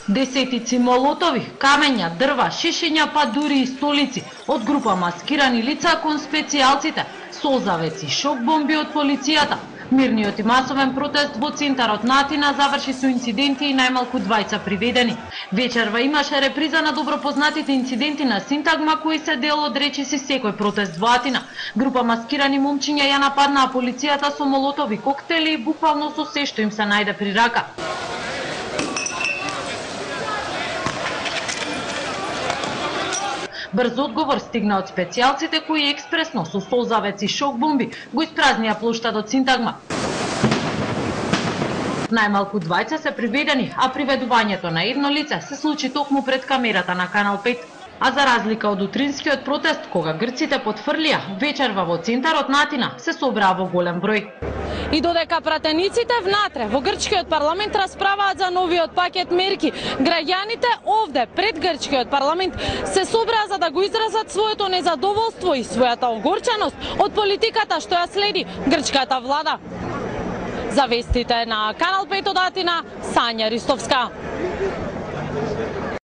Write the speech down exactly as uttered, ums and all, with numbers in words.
Десетици молотови, камења, дрва, шишиња, па дури и столици од група маскирани лица кон специјалците, созавеци, шок бомби од полицијата. Мирниот и масовен протест во центарот на Атина заврши со инциденти и најмалку двајца приведени. Вечерва имаше реприза на добро познатите инциденти на Синтагма кои се дел од речиси секој протест во Атина. Група маскирани момчиња ја нападнаа полицијата со молотови коктели и буквално со се што им се најде при рака. Брз одговор стигна од специјалците кои експресно со созавец и шок бомби го испразнија плоштадот Синтагма. Најмалку двајца се приведени, а приведувањето на едно лице се случи токму пред камерата на Канал пет. А за разлика од утринскиот протест, кога грците потфрлија, вечерва во центарот на Атина се собраа во голем број. И додека пратениците внатре во грчкиот парламент расправаат за новиот пакет мерки, граѓаните овде пред грчкиот парламент се собраа за да го изразат своето незадоволство и својата огорченост од политиката што ја следи грчката влада. За вестите на Канал пет од Атина, Сања Ристовска.